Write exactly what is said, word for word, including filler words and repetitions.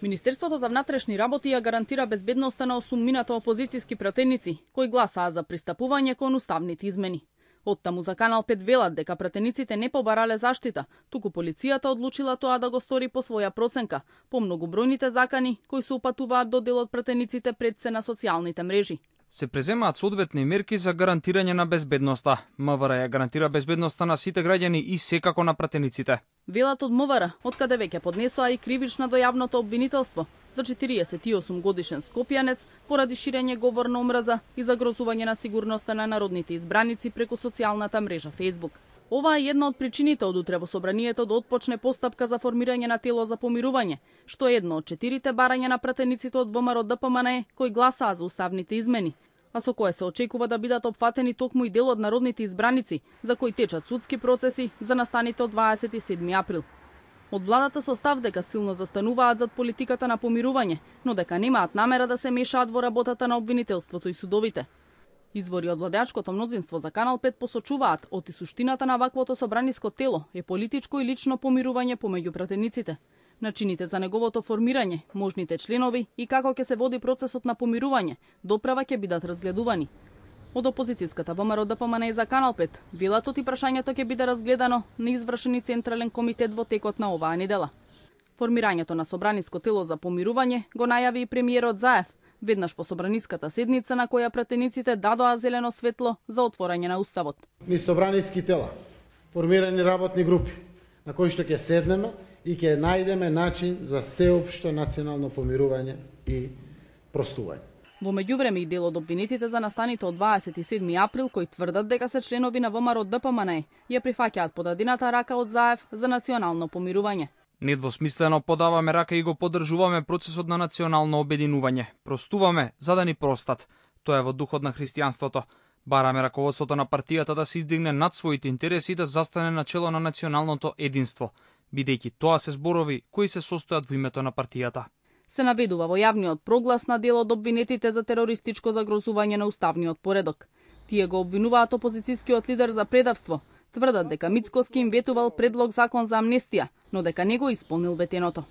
Министерството за внатрешни работи ја гарантира безбедноста на осумнината опозицијски пратеници кои гласаа за пристапување кон уставните измени. Оттаму за Канал пет велат дека пратениците не побарале заштита, туку полицијата одлучила тоа да го стори по своја проценка, по многобројните закани кои се упатуваат до дел од пратениците пред се на социјалните мрежи. Се преземаат соодветни мерки за гарантирање на безбедноста. МВР ја гарантира безбедноста на сите граѓани и секако на пратениците. Велат од МВР, откаде веќе поднесоа и кривична до јавното обвинителство за четириесет и осум годишен скопјанец поради ширење говор на омраза и загрозување на сигурноста на народните избраници преку социјалната мрежа Facebook. Ова е една од причините од утре во собранието да отпочне постапка за формирање на тело за помирување, што е едно од четирите барања на пратениците од ВМРО Д П М Н кои гласаа за уставните измени, а со кое се очекува да бидат опфатени токму и дел од народните избраници, за кои течат судски процеси за настаните од дваесет и седми април. Од владата со став дека силно застануваат зад политиката на помирување, но дека немаат намера да се мешаат во работата на обвинителството и судовите. Извори од владеачкото мнозинство за Канал пет посочуваат оти суштината на ваквото собраниско тело е политичко и лично помирување помеѓу пратениците. Начините за неговото формирање, можните членови и како ќе се води процесот на помирување, доправа ќе бидат разгледувани. Од опозицијската ВМРО Д П М Н за Канал пет велат оти прашањето ќе биде разгледано на извршени централен комитет во текот на оваа недела. Формирањето на собраниско тело за помирување го најави и премиерот Заев, веднаш по собраниската седница на која пратениците дадоа зелено светло за отворање на уставот. Ни собраниски тела, формирани работни групи, на кои што ќе седнеме и ќе најдеме начин за сеопшто национално помирување и простување. Во меѓувреме и дел од обвинетите за настаните од дваесет и седми април кои тврдат дека се членови на ВМРО Д П М Н ја прифаќаат подадената рака од Заев за национално помирување. Недвосмислено подаваме рака и го поддржуваме процесот на национално обединување. Простуваме за да ни простат. Тоа е во духот на христијанството. Бараме раководството на партијата да се издигне над своите интереси и да застане на чело на националното единство, бидејќи тоа се зборови кои се состојат во името на партијата. Се наведува во јавниот проглас на дел од обвинетите за терористичко загрозување на уставниот поредок. Тие го обвинуваат опозицијскиот лидер за предавство, тврдат дека Мицкоски им ветувал предлог закон за амнестија, но дека не го исполнил ветеното.